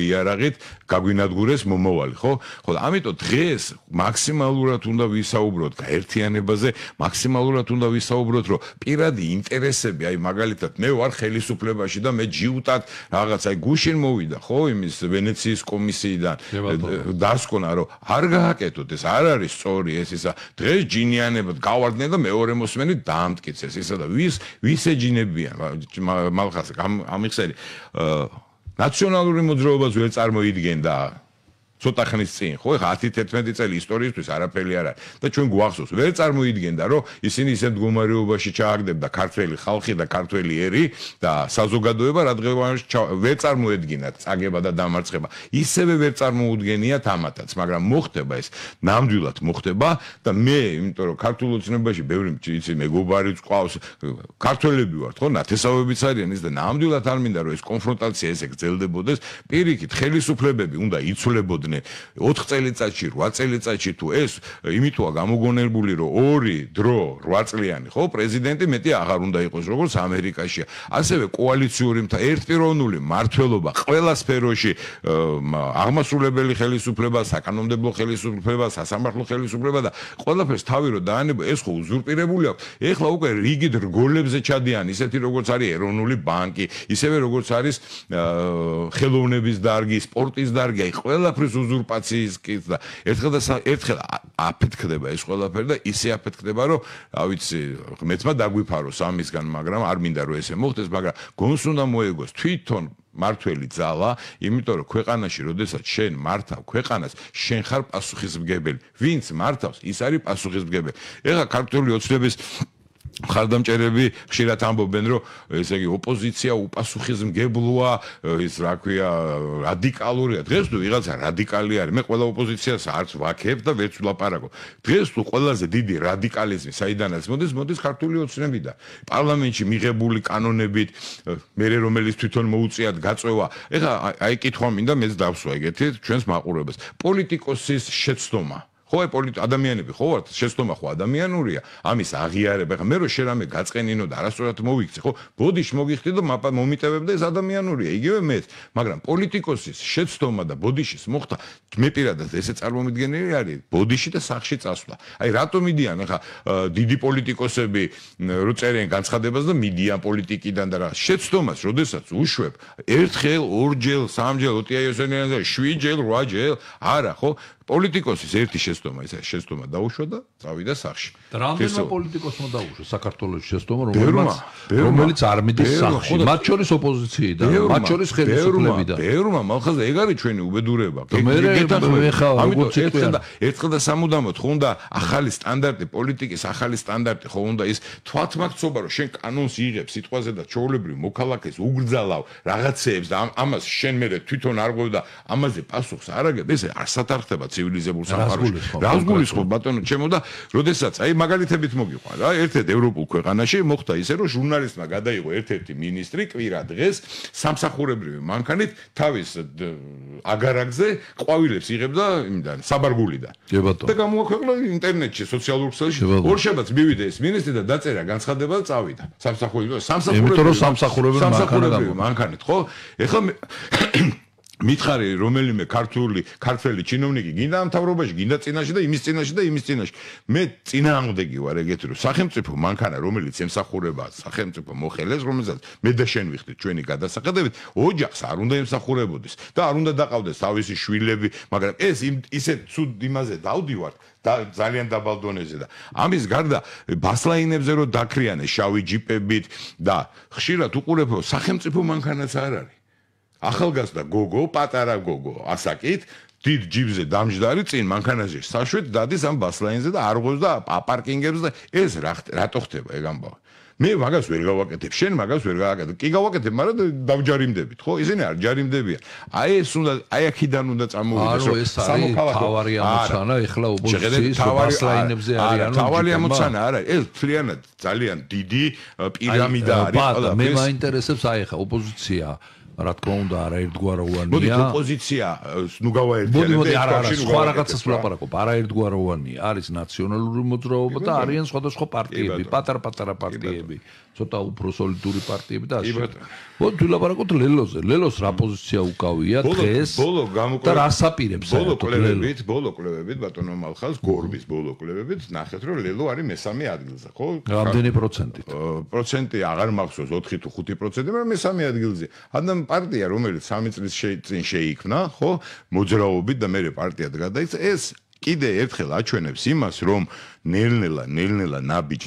იარაღით გაგვინადგურეს მომავალი, ხო? ხო, ამიტომ დღეს მაქსიმალურად უნდა ვისაუბროთ გაერთიანებაზე, მაქსიმალურად უნდა ვისაუბროთ, რომ პირადი ინტერესები, აი მაგალითად, მე ვარ ხელისუფლებაში და მე ჯიუტად რაღაც აი გუშინ მოვიდა, ხო, იმის ვენეციის კომისიიდან დასკვნა, რომ არ გააკეთოთ, ეს არ არის სწორი, ეს ისა დღეს ჯინიანებად გავარდნენ და მეორე მოსმენით დაამტკიცეს, ისა და ვის ეჯინებიან მალხას ამიხსენი ნაციონალური მოძრაობას ვერ წარმოიდგენდა ცოტა ხნის წინ, ხო, ეხლა 10-11 წელი ისტორიისთვის არაფერი არ არის და ჩვენ გვახსოვს, ვერ წარმოიდგენდა, რომ ისინი ისეთ მდგომარეობაში ჩააგდებდა ქართველი ხალხი და ქართველი ერი და საზოგადოება რადგან ვერ წარმოედგინათ წაგება და დამარცხება. ისევე ვერ წარმოუდგენიათ ამათაც, მაგრამ მოხდება ეს, ნამდვილად მოხდება და მე, იმიტომ რომ ქართულ ოცნებაში ბევრი იცი მეგობარი წყვავს, ქართველები ვართ, ხო, ნათესავებიც არიან ის და ნამდვილად არ მინდა რომ ეს კონფრონტაცია ესე გრძელდებოდეს, პირიქით ხელისუფლებები უნდა იცვლებოდნენ 4 წელიწადში, 8 წელიწადში თუ ეს იმითოა გამოგონებული, რომ ორი დრო 8 წლიანი, ხო, პრეზიდენტი მეტი აღარ უნდა იყოს, როგორც ამერიკაშია. ასევე კოალიციური ერთპიროვნული მმართველობა ყველა სფეროში, აღმასრულებელი ხელისუფლება, საკანონმდებლო ხელისუფლება, სასამართლო ხელისუფლება და ყველაფერს თავი რო დაანება, ეს ხო უზურპირებული აქვს. ეხლა უკვე რიგით რგოლებზე ჩადიან, ისეთი როგორც არის ეროვნული ბანკი, ისევე როგორც არის ხელოვნების დარგი, სპორტის დარგი, აი ყველაფერს უზურპაციის კიც და ერთხელ აფეთქდება ეს ყველაფერი და ისე აფეთქდება, რომ რა ვიცი, მეცმა დაგვიფაროს ამისგან, მაგრამ არ მინდა რომ ესე მოხდეს, მაგრამ გონს უნდა მოეგოს თვითონ მართველი ძალა, იმიტომ რომ ქვეყანაში, როდესაც შენ მართავ ქვეყანას, შენ ხარ პასუხისმგებელი. ვინც მართავს, ის არის პასუხისმგებელი. ეხლა ქართული ოცნების მხარდამჭერები ხშირად ამბობენ, რომ ესე იგი ოპოზიცია უპასუხისმგებლოა, ის რა ქვია, რადიკალურია. დღეს თუ ვიღაცა რადიკალი არის, მე ყველა ოპოზიციას არც ვაქებ და ვერც ვლაპარაკობ. დღეს თუ ყველაზე დიდი რადიკალიზმი საიდანაც მოდის ქართული ოცნებიდან. პარლამენტში მიღებული კანონებით, მერე რომელიც თვითონ მოუწიათ გაწევა. ეხლა აი კითხვა მინდა მეც დავსვა ეგეთი ჩვენს მაყურებელს. პოლიტიკოსის შეცდომა ხო, ადამიანები ხო ვართ, შეცდომა ხო ადამიანურია, ამის აღიარება. ეხლა მე რო შენ რამე გაწყენინო და არასწორად მოვიქცე, ხო, ბოდიში მოგიხდი და მომიტევებ და ეს ადამიანურია, იგივე მეც, მაგრამ პოლიტიკოსის შეცდომა და ბოდიშის მოხდა, მე პირადად ესე წარმომიდგენელი არის, ბოდიში და სახში წასვლა. აი რატომ მიდიან ეხლა დიდი პოლიტიკოსები რო წერენ განცხადებას და მიდიან პოლიტიკიდან და რა შეცდომას, როდესაც უშვებ, ერთხელ, ორჯერ, სამჯერ, ოტია იოსელიანზე 7ჯერ, 8ჯერ, არა, ხო? პოლიტიკოსის ერთი შეცდომა, ეს შეცდომა დაუშვა და წავიდა სახში. რამდენმა პოლიტიკოსმა დაუშვა საქართველოს შეცდომა, რომელიც არ მიდის სახში, მათ შორის ოპოზიციიდან, მათ შორის ხელისუფლებიდან. ბევრმა, მალხაზა, ეგ არის ჩვენი უბედურება. ამიტომ ერთხელ და სამუდამოდ ხო უნდა ახალი სტანდარტი, პოლიტიკის ახალი სტანდარტი ხო უნდა ის თვალთმაქცობა, რომ შენ კანონს იღებ სიტყვაზე და ჩვეულებრივ მოქალაქეს უგრძალავ რაღაცეებს და ამას შენ მე თვითონ არ ღვევ და ამაზე პასუხს არ აგებ, ეს არ სათარხდება ცივილიზებულ სამყაროში. რას გულისხმობ ბატონო ჩემო და როდესაც აი მაგალითებით მოგიყვან რა, ერთ-ერთ ევროპულ ქვეყანაში მოხდა ისე, რომ ჟურნალისტმა გადაიღო ერთ-ერთი მინისტრი კვირა დღეს სამსახურებრივი მანქანით თავის აგარაკზე ყვავილებს იღებდა იმიდან საბარგულიდან. და გამოაქვეყნა ინტერნეტში, სოციალურ ქსელში. ორშაბათს მივიდა ეს მინისტრი და დაწერა განცხადება და წავიდა. სამსახურებრივი მანქანით, ხო? ეხლა მითხარი რომელიმე ქართველი ჩინოვნიკი გინდა ამ თავრობაში, გინდა წინაში და იმის წინაში და იმის წინაში. მე წინააღმდეგი ვარ ეგეთი რომ სახელმწიფო მანქანა რომელიც ემსახურება სახელმწიფო მოხელეს, რომელსაც მე და შენ ვიხდით ჩვენი გადასახედებით, ოჯახს არ უნდა ემსახურებოდეს და არ უნდა დაყავდეს თავისი შვილები, მაგრამ ეს ისეთ ცუდ იმაზე დავდივართ და ძალიან დაბალ დონეზე და ამის გარდა ბასლაინებზე რომ დაქრიანეს შავი ჯიპებით და ხშირად უყურებო სახელმწიფო მანქანაც არ არის. ახალგაზრდა გოგო, პატარა გოგო, ასაკით, დიდ ჯიბზე დამჯდარი წინ მანქანაზე საშვით დადის ამ ბასლაინზე და არ ღვევს და აპარკინგებს და ეს რატო ხდება ეგ ამბავი. მე მაგას ვერ გავაკეთებ, შენ მაგას ვერ გავაკეთებ. კი გავაკეთებ, მაგრამ დავჯარიმდებით, ხო? ისინი არ ჯარიმდებიან. აი ეს უნდა, აი აქედან უნდა წამოვიდეს, რომ სამოქალაქო თავარი ამოცანა, ეხლა ოპოზიციის ბასლაინებზე არის, თავარი ამოცანა არა, ეს მთლიანად ძალიან დიდი პირამიდა არის. მე მაინტერესებს აი ეხლა ოპოზიცია რა თქმა უნდა არაერთგვაროვანია. მოდი ოპოზიცია ნუ გავაერთიანებთ. მოდი არა სხვა რაღაცას ვლაპარაკობ. არაერთგვაროვანია. არის ნაციონალური მოძრაობა და არიან სხვადასხვა პარტიები, პატარ-პატარა პარტიები, ცოტა უფრო სოლიდური პარტიები და ასე. მოდი ვლაპარაკოთ ლელოზე. ლელოს რა პოზიცია უკავია დღეს და რას აპირებს საერთოდ? ბოლო კვლევებით ბატონო მალხაზ, გორბის ბოლო კვლევებით ნახეთ რომ ლელო არის მესამე ადგილზე, ხო? რამდენი პროცენტით? პროცენტი აღარ მახსოვს 4 თუ 5%, მაგრამ მესამე ადგილზე. ადამ პარტია რომელიც 3 წლის წინ შეიქმნა, ხო, მოძრაობით და მერე პარტიად გადაიქცა, ეს კიდე ერთხელ აჩვენებს იმას, რომ ნელ-ნელა ნაბიჯ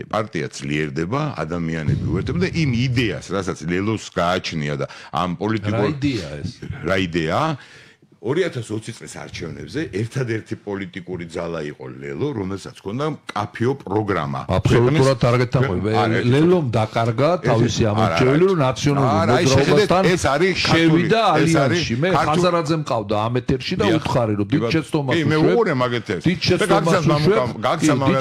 პარტია ძლიერდება, ადამიანები უერთდება და იმ იდეას, რასაც ლელოს გააჩნია და ამ პოლიტიკურ რა იდეა ეს? რა იდეა? 2020 წლის არჩევნებზე ერთადერთი პოლიტიკური ძალა იყო ლელო, რომელსაც ჰქონდა კაფიო პროგრამა. აბსოლუტურად არ გეთანხმები. ლელომ დაკარგა თავისი ამორჩეველი, რომ ნაციონალური მოძრაობასთან შევიდა ალიანსში. მე ხაზარაძე მყავდა ამ ეთერში და უთხარი, რომ დიდ შეცდომას უშვებ. მე უყურე მაგ ეთერს. დიდ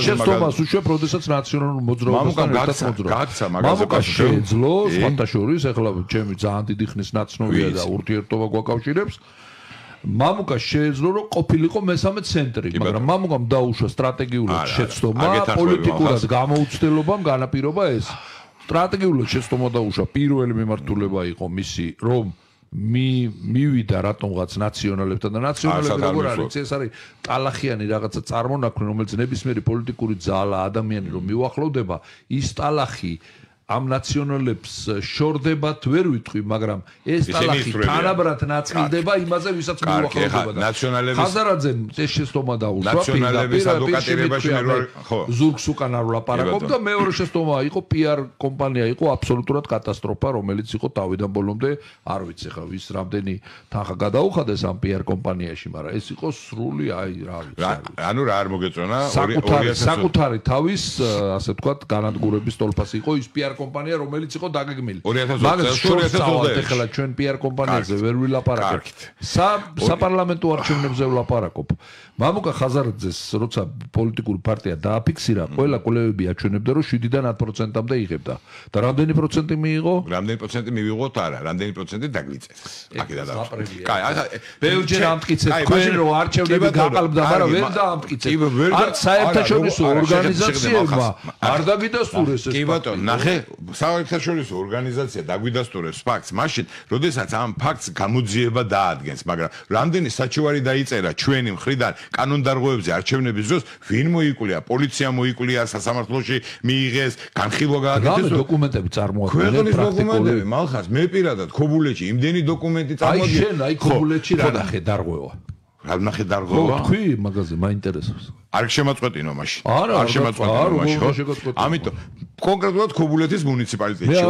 შეცდომას უშვებ, როდესაც ნაციონალური მოძრაობასთან ერთად მოძრაობს. მამუკა შეეძლო, სხვათა შორის, ეხლა ჩემი ძალიან დიდი ხნის ნაცნობია და ურთიერთობა გვაკავშირებს. მამუკა შეეძლო რომ ყოფილიყო მესამე ცენტრი, მაგრამ მამუკამ დაუშვა სტრატეგიულად შეცდომა, პოლიტიკურად გამოუცდელობამ განაპირობა ეს. სტრატეგიულად შეცდომა დაუშვა, პირველი მიმართულება იყო მისი, რომ მივიდა რატომღაც ნაციონალებთან და ნაციონალები როგორ არის, ეს არის ტალახიანი რაღაცა წარმონაქმნი, რომელიც ნებისმიერი პოლიტიკური ძალა, ადამიანი რომ მიუახლოვდება, ის ტალახი ამ ნაციონალებს შორდებათ ვერ ვიტყვი, მაგრამ ეს ტალახი თანაბრად ნაწილდება იმაზე, ვისაც მიუახლოვდება. ხაზარაძემ ეს შეცდომა დაუშვა, ნაციონალების ადვოკატირებაში ხო, ზურგს უკან არ ვლაპარაკობ და მეორე შეცდომა იყო PR კომპანია იყო აბსოლუტურად კატასტროფა, რომელიც იყო თავიდან ბოლომდე, არ ვიცი ხა ვის რამდენი თანხა გადაუხადეს ამ PR კომპანიაში, მაგრამ ეს იყო სრული აი რა ვიცი. ანუ რა არ მოგეწონა? საკუთარი თავის ასე ვთქვათ განადგურების ტოლფასი იყო ის PR კომპანია რომელიც იყო დაგეგმილი. მაგას შორს ახლა ჩვენ PR კომპანიაზე ვერ ვილაპარაკებთ. საპარლამენტო არჩევნებზე ვლაპარაკობ. მამუკა ხაზარაძეს როცა პოლიტიკური პარტია დააფიქსირა, ყველა კვლევები აჩვენებდა რომ 7-დან 10%-მდე იღებდა. და რამდენი პროცენტი მიიღო? რამდენი პროცენტი მივიღოთ არა, რამდენი პროცენტი დაგლიწეს. აქედან და. კაი, ახლა ბევრჯერ ამტკიცეთ თქვენ რომ არჩევნები გაყალბდა, მაგრამ ვერ დაამტკიცეთ. არც საერთაშორისო ორგანიზაციებმა არ დაგიდასტურეს ეს. კი ბატონო, ნახე, საერთაშორისო ორგანიზაცია დაგვიდასტურებს ფაქტს, მაშინ, როდესაც ამ ფაქტს გამოძიება დაადგენს, მაგრამ რამდენი საჩივარი დაიწერა ჩვენი მხრიდან კანონდარღვევებზე არჩევნების დროს, ვინ მოიკვლია, პოლიცია მოიკვლია, სასამართლოში მიიღეს, განხილვა გააკეთეს. რა დოკუმენტები წარმოადგენენ ქვეყნის დოკუმენტები, მალხაზ, მე პირადად ქობულეთში იმდენი დოკუმენტი წარმოადგენს. აი შენ, აი ქობულეთში რა ნახე დარღვევა. რა ნახე დარღვევა? თქვი მაგაზე მაინტერესებს. არ შემაწყვეტინო მაშინ. არ შემაწყვეტინო მაშინ. ამიტომ კონკრეტულად ქობულეთის მუნიციპალიტეტში.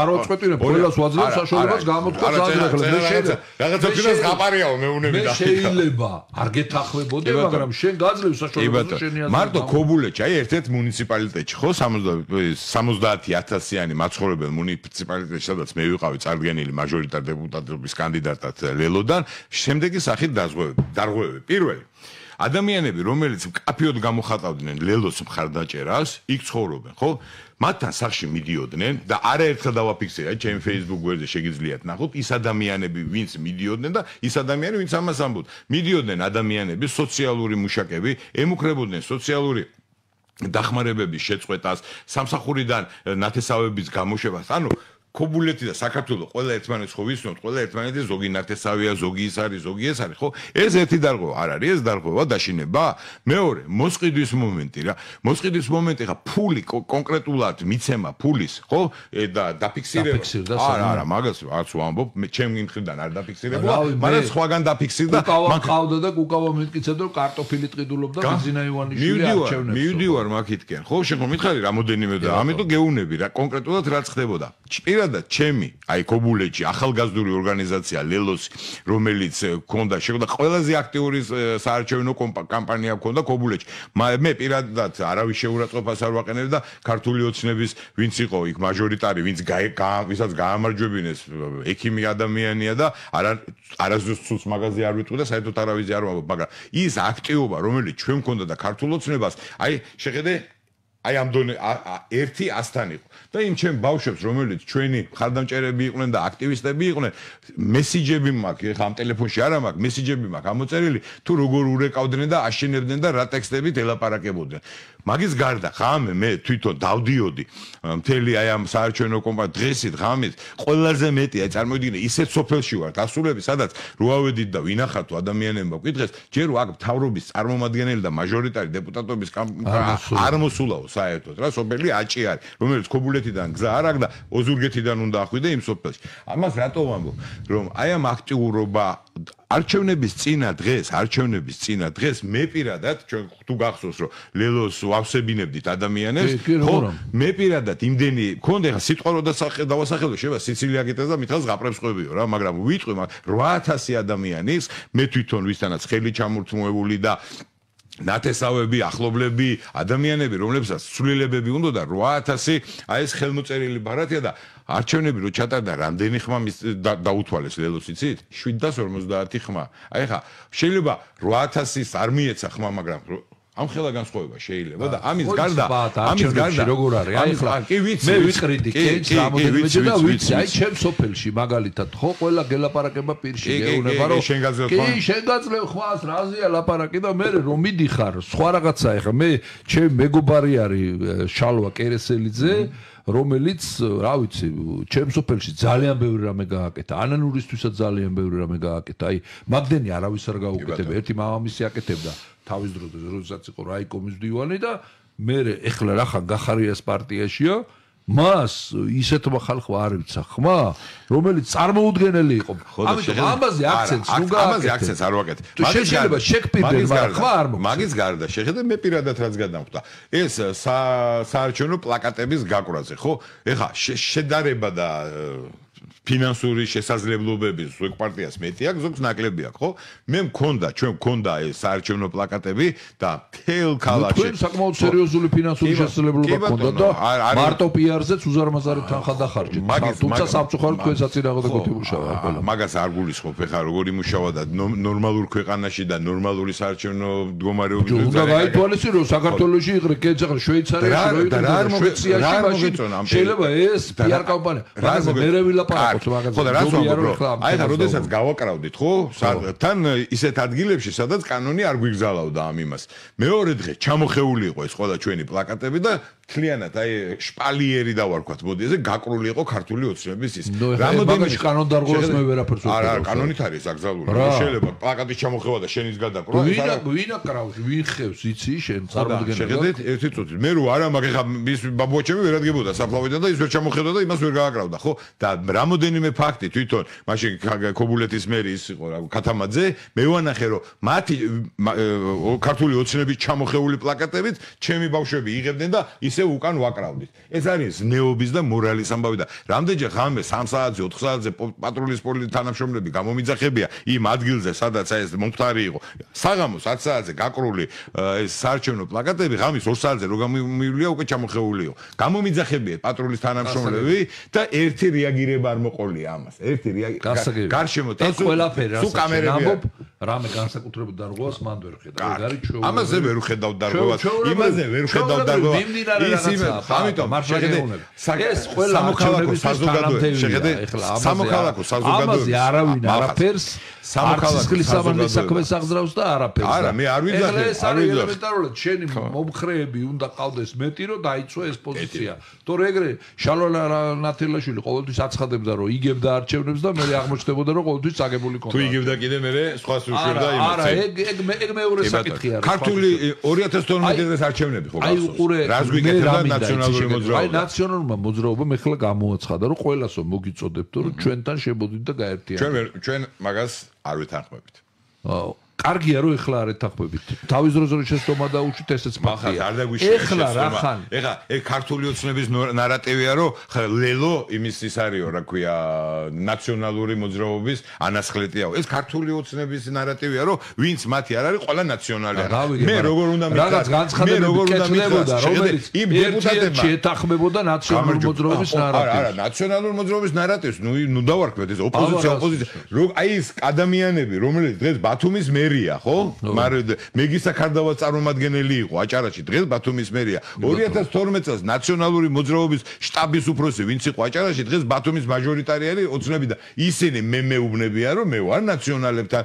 არ ვაწყვეტინებ, ყველას ვაძლევ საშუალებას გამოთქვა სადღეგლე. რაღაცა თქოს გაპარიაო მეუნები და. შეიძლება არ გეთანხმებოდე, მაგრამ შენ გაძლევ საშუალებას შენი აზრი. მარტო ქობულეთში, აი ერთ-ერთ მუნიციპალიტეტში ხო 70,000-იანი მაცხოვრებელ მუნიციპალიტეტში, სადაც მე ვიყავი წარდგენილი მაჟორიტარ დეპუტატობის კანდიდატად ლელოდან, შემდეგი სახით დარღვევები. პირველი ადამიანები, რომელიც მკაფიოდ გამოხატავდნენ ლელოს მხარდაჭერას, იქ ცხოვრობენ, ხო? მათთან სახში მიდიოდნენ და არაერთხელ დავაფიქსირე, ჩემი Facebook გვერდზე შეგიძლიათ ნახოთ, ის ადამიანები, ვინც მიდიოდნენ და ის ადამიანები, ვინც ამას ამბობდნენ. მიდიოდნენ ადამიანები, სოციალური მუშაკები, ემუქრებოდნენ სოციალური დახმარებების შეწყვეტას, სამსახურიდან ნათესავების გამოშვებას. ანუ ქობულეთი და საქართველოს ყველა ერთმანეთს ხო ვიცნობთ, ყველა ერთმანეთი ზოგი ნათესავია, ზოგი ის არის, ზოგი ეს არის, ხო? ეს ერთი დარღვევა არ არის, ეს დარღვევა დაშინება. მეორე, მოსყიდვის მომენტი რა. მოსყიდვის მომენტი ხა ფული კონკრეტულად მიცემა ფულის, ხო? და დაფიქსირება. არა, მაგას არც ვამბობ, ჩემი მხრიდან არ დაფიქსირებულა, მაგრამ სხვაგან დაფიქსირდა. კუკავა ყავდა და კუკავა მეთქიცებდა, რომ კარტოფილი ტყიდულობდა ბიზინა ივანიშვილი არჩევნებს. მივდივარ მაგითკენ, ხო? შენ ხომ მითხარი რამოდენიმე და ამიტომ გეუნები რა, კონკრეტულად რაც ხდებოდა. პირადად ჩემი აი ქობულეთში ახალგაზრდული ორგანიზაცია ლელოსი რომელიც ქონდა შეგვდა ყველაზე აქტიური საარჩევნო კამპანია ქონდა ქობულეთში მე პირადად არავის შეურაცხყოფას არ ვაყენებ და ქართული ოცნების ვინც იყო იქ მაჟორიტარი ვინც ვისაც გაამარჯვებინეს ექიმი ადამიანია და არასდროს ცუც მაგაზე არ ვიტყვი და საერთოდ არავის არ ვამბობ მაგრამ ის აქტივობა რომელიც ჩვენ ქონდა და ქართულ ოცნებას აი შეხედე აი ამ დონე ერთი 100-თან იყო და იმ ჩემ ბავშვებს რომელიც ჩვენი ხარდამჭერები იყვნენ და აქტივისტები იყვნენ მესიჯები მაქვს ეხა ამ ტელეფონში არა მაქვს მესიჯები მაქვს ამოწერილი თუ როგორ ურეკავდნენ და აშენებდნენ და რა ტექსტებით ელაპარაკებოდნენ მაგის გარდა ღამე მე თვითონ დავდიოდი მთელი აი ამ საარჩევნო კომპანია დღესით ღამით ყველაზე მეტი აი წარმოიდგინე ისეთ სოფელში ვარ დასულები სადაც რო ავედით და ვინახავთ ადამიანებმა ვკითხეს ჯერ აქ მთავრობის წარმომადგენელი და მაჟორიტარი დეპუტატობის არ მოსულაო საერთოდ რა სოფელი აჭი არის რომელიც ქობულეთიდან გზა არ აქვს და ოზურგეთიდან უნდა ახვიდე იმ სოფელში ამას რატო ვამბობ რომ აი ამ აქტიურობა არჩევნების წინა დღეს მე პირადად ჩვენ თუ გახსოვს რომ ლელოს ვავსებინებდით ადამიანებს ხო მე პირადად იმდენი მქონდა ხა სიტყვა რო დავასახელო შევა სიცილია გიტეს და მითხავს გაპრებს ყვებიო რა მაგრამ ვიტყვი 800 ადამიანის მე თვითონ ვისთანაც ხელი ჩამორთმოებული და ნათესავები, ახლობლები, ადამიანები, რომლებსაც ცვლილებები უნდა და 800 აი ეს ხელმოწერილი ბარათია და არჩევნები რო ჩატარდა რამდენი ხმა დაუთვალეს ლელოს იცით? 750 ხმა. აი ხა შეიძლება 800-ის არ მიეცა ხმა, მაგრამ ამ ხელა განსხვავება შეიძლება და ამის გარდა როგორ არის? აი ხლა მე ვიყრიდი კენჭს რამოდენმეჯერ და ვიცი, აი ჩემ სოფელში მაგალითად ხო ყველა გელაპარაკება პირში გეუბნება რომ კი შენ გაძლევ ხმას რაზეა ლაპარაკი და მე რომ მიდიხარ სხვა რაღაცა ეხა მე ჩემ მეგობარი არის შალვა კერესელიძე რომელიც რა ვიცი ჩემ სოფელში ძალიან ბევრი რამე გააკეთა ანანურისთვისაც ძალიან ბევრი რამე გააკეთა აი მაგდენი არავის არ გაუკეთებია ერთი მამამისი აკეთებდა თავის დროზე როდესაც იყო რაიკომის მდივანი და მე ეხლა რახან გახარიას პარტიაშია მას ისეთმა ხალხმა არ ვიცა ხმა რომელიც წარმოუდგენელი იყო ამიტომ ამაზე აქცენტს ნუ გააკეთე ამაზე აქცენტს არ ვაკეთე შეიძლება შექპირდნენ მაგრამ ხმა არ მოხდა მაგის გარდა შეხედე მე პირადად რაც გადამხვდა ეს საარჩევნო პლაკატების გაყრაზე ხო ეხა შედარება და ფინანსური შესაძლებლობები ზოგ პარტიას მეტი აქვს, ზოგს ნაკლები აქვს, ხო? მე ჩვენ მქონდა ეს საარჩევნო პლაკატები და თელ ქალაქში. თქვენ საკმაოდ სერიოზული ფინანსური შესაძლებლობა გქონდა და მარტო პიარზეც უზარმაზარი თანხა დახარჯეთ. თუმცა სამწუხაროდ თქვენ საწინააღმდეგო გოთიმუშავა ყველა. მაგას არ გულისხმობ, ეხლა როგორი მუშავა და ნორმალურ ქვეყანაში და ნორმალური საარჩევნო მდგომარეობის უნდა გაითვალისწინო საქართველოში იყრე კერძ ახლა შვეიცარიაში რო იყრე შვეიცარიაში მაშინ შეიძლება ეს პიარ კამპანია. მაგრამ მე ვილაპარაკო ხო და რაც ვამბობ აი ხა როდესაც გავაკრავდით ხო თან ისეთ ადგილებში სადაც კანონი არ გვიგზავნოდა ამ იმას მეორე დღე ჩამოხეული იყო ეს ყველა ჩვენი პლაკატები და მთლიანად აი შპალიერი დავარქვათ მოდი ესე გაკრული იყო ქართული ოცნების ის რამოდენიმე კანონდარღვევას მე ვერაფერს ვუყურებ არა კანონით არის აკრძალული შეიძლება პლაკატის ჩამოხევა და შენის გადაკრვა ვინ აკრავს ვინ ხევს იცი შენ წარმოდგენა შეხედეთ ერთი წუთი მე რო არა მაგ ეხა ის ბაბუაჩემი ვერ ადგებოდა საფლავიდან და ის ვერ ჩამოხედა და იმას ვერ გააკრავდა ხო და რამოდენიმე ფაქტი თვითონ მაშინ ქობულეთის მერი ის იყო ქათამაძე მე ვანახე რომ მათი ქართული ოცნების ჩამოხეული პლაკატებით ჩემი ბავშვები იღებდნენ და ისე უკან ვაკრავდით ეს არის ნეობის და მორალის ამბავი და რამდენჯერ ღამე 3 საათზე 4 საათზე პატრულის პოლიციის თანამშრომლები გამომიძახებია იმ ადგილზე სადაც ეს მომხდარი იყო საღამოს 10 საათზე გაკრული ეს საარჩევნო პლაკატები ღამის 2 საათზე რო გამომივლია უკვე ჩამოხეული იყო გამომიძახებია პატრულის თანამშრომლები და ერთი რეაგირება არ მოყოლია ამას ერთი გარშემო ეს ყველაფერი სულ კამერები რამე განსაკუთრებულ დარღვევას მან ვერ ხედავ ეგ არის ჩვეულებრივი ამაზე ვერ ვხედავ დარღვევას იმაზე ვერ ვხედავ დარღვევას ის ამიტომ ეს ყველა სამოქალაქო საზოგადოება სამოქალაქო საზოგადოება ამაზე არავინ არაფერს სამოქალაქო საზოგადოება საქმეს აღძრავს და არაფერს არა მე არ ვიძახე ეს არის ელემენტარულად შენი მომხრეები უნდა ყავდეს მეტი რომ დაიცვა ეს პოზიცია თორე ეგრე შალვა ნათელაშვილი ყოველთვის აცხადებდა რომ იგებდა არჩევნებს და მე აღმოჩნდებოდა რომ ყოველთვის წაგებული ქონდა თუ იგებდა კიდე მე სხვას უშვებდა იმას არა ეგ მეორე საკითხი არის ქართული 2012 წლის არჩევნები ხო აი უყურე რას გვიკეთებდა ნაციონალური მოძრაობა აი ნაციონალურმა მოძრაობამ ეხლა გამოაცხადა რომ ყველასო მოგიწოდებთ რომ ჩვენთან შებოდით და გაერთიანდით ჩვენ მაგას არ ვეთანხმებით კარგია რომ ეხლა არ ეთანხმებით თავის დროზე რომ შეცდომა დაუშვით ესეც ფაქტია ეხლა რახან ეხლა ეგ ქართული ოცნების ნარატივია რომ ლელო იმის ის არისო რა ქვია ნაციონალური მოძრაობის ანასხლეტიაო ეს ქართული ოცნების ნარატივია რომ ვინც მათი არ არის ყველა ნაციონალია მე როგორ უნდა მითხრა რაღაც განცხადებები კეთდებოდა რომელიც იმ დეპუტატებმა შეთანხმებოდა ნაციონალური მოძრაობის ნარატივს არა ნაციონალური მოძრაობის ნარატივს ნუ დავარქვეთ ეს ოპოზიცია აი ეს ადამიანები რომელიც დღეს ბათუმის მერია ხო? მაგრამ მეგისა ქარდავა წარმომადგენელი იყო აჭარაში დღეს ბათუმის მერია 2012 წელს ნაციონალური მოძრაობის შტაბის უფროსი ვინც იყო აჭარაში დღეს ბათუმის მაჟორიტარიელი ოცნები და ისინი მე მეუბნებიან რომ მე ვარ ნაციონალებთან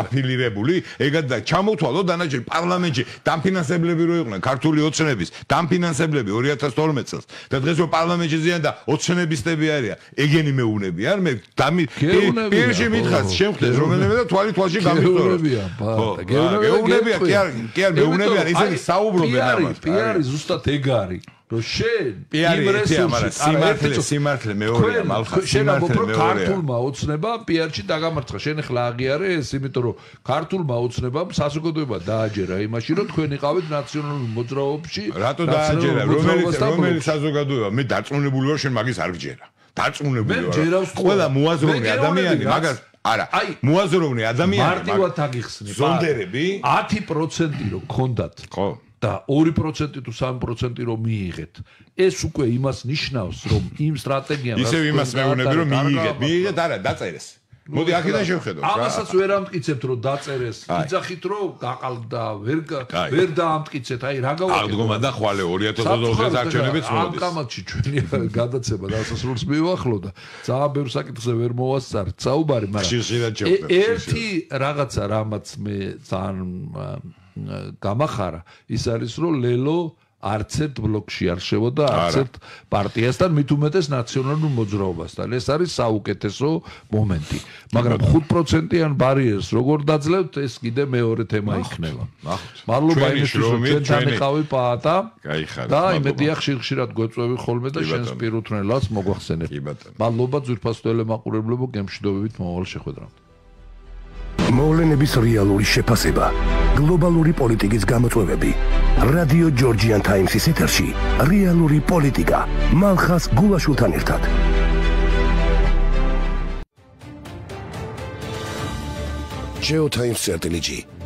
აფილირებული ეგად და ჩამოთვალო დანარჩენ პარლამენტში დამფინანსებლები რო იყვნენ ქართული ოცნების დამფინანსებლები 2012 წელს და დღეს რო პარლამენტში ზიან და ოცნებისტები არიან ეგენი მეუბნებიან მე პირში მითხარ შემხდეს რომელიმე და თვალში გეუბნებია გეუბნებია კი არ მეუბნებიან ისინი საუბრობენ ამას პიარი ზუსტად ეგ არის რომ შენ იმ რესურსით სიმართლე მეორეა მალხა სიმართლე მეორეა ქართულმა ოცნებამ პიარში დაგამარცხა შენ ახლა აღიარე ეს იმიტომ რომ ქართულმა ოცნებამ საზოგადოება დააჯერა იმაში რომ თქვენ იყავით ნაციონალურ მოძრაობაში რატო დააჯერა რომელი საზოგადოება მე დარწმუნებული ვარ შენ მაგის არ გჯერა დარწმუნებული ვარ ყველა მოაზროვნე ადამიანი მაგას არა მოაზროვნე ადამიანი მარტივად აგიხსნი ზონდერები 10% რო გქონდათ ხო და 2% თუ 3% რომ მიიღეთ ეს უკვე იმას ნიშნავს რომ იმ სტრატეგიამ ისევ იმას მეუბნები რომ მიიღეთ არა დაწერეს მოდი აქედან შევხედოთ რა ამასაც ვერ ამტკიცებთ რომ დაწერეს იძახით რომ გაყალდა ვერ დაამტკიცეთ აი რა გავაკეთე აღდგომა და ხვალე 2020 წელს არჩევნებიც მოდის ამ კამათში ჩვენი გადაცემა დასასრულს მივახლო და ძალიან ბევრ საკითხზე ვერ მოვასწარეთ საუბარი მაგრამ ერთი რაღაცა რამაც მე ძალიან გამახარა ის არის რომ ლელო არც ერთ ბლოკში არ შევოდა არც ერთ პარტიასთან მით უმეტეს ნაციონალურ მოძრაობასთან ეს არის საუკეთესო მომენტი მაგრამ 5%-იან ბარიერს როგორ დაძლევთ ეს კიდე მეორე თემა იქნება მადლობა იმისთვის რომ ჩვენთან იყავი პაატა და იმედია ხშირ-ხშირად გვეწვევი ხოლმე და შენს პირუთვნელას მოგვახსენებ მადლობა ძვირფას ტელემაყურებლებო გემშვიდობებით მომავალ შეხვედრამდე მოვლენების რეალური შეფასება, გლობალური პოლიტიკის გამოწვევები, რადიო ჯორჯიან ტაიმსის ეთერში, რეალური პოლიტიკა, მალხას გულაშვილთან ერთად. Geotimes.gr